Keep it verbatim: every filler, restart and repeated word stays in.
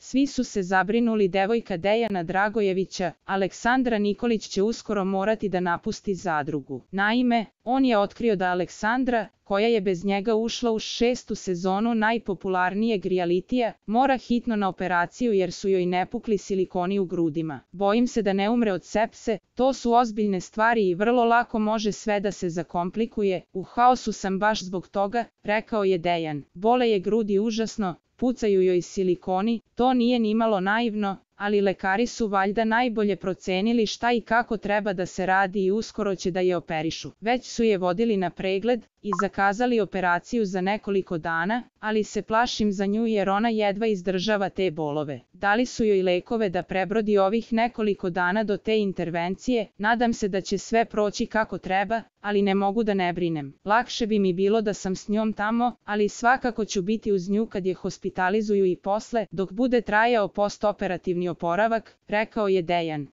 Svi su se zabrinuli, devojka Dejana Dragojevića, Aleksandra Nikolić će uskoro morati da napusti zadrugu. Naime, on je otkrio da Aleksandra, koja je bez njega ušla u šestu sezonu najpopularnijeg rijalitija, mora hitno na operaciju jer su joj nepukli silikoni u grudima. Bojim se da ne umre od sepse, to su ozbiljne stvari i vrlo lako može sve da se zakomplikuje. U haosu sam baš zbog toga, rekao je Dejan. Bole je grudi užasno, pucaju joj silikoni, to nije nimalo naivno, ali lekari su valjda najbolje procenili šta i kako treba da se radi i uskoro će da je operišu. Već su je vodili na pregled i zakazali operaciju za nekoliko dana, ali se plašim za nju jer ona jedva izdržava te bolove. Dali su joj lekove da prebrodi ovih nekoliko dana do te intervencije, nadam se da će sve proći kako treba, ali ne mogu da ne brinem. Lakše bi mi bilo da sam s njom tamo, ali svakako ću biti uz nju kad je hospitalizuju i posle, dok bude trajao postoperativni oporavak, rekao je Dejan.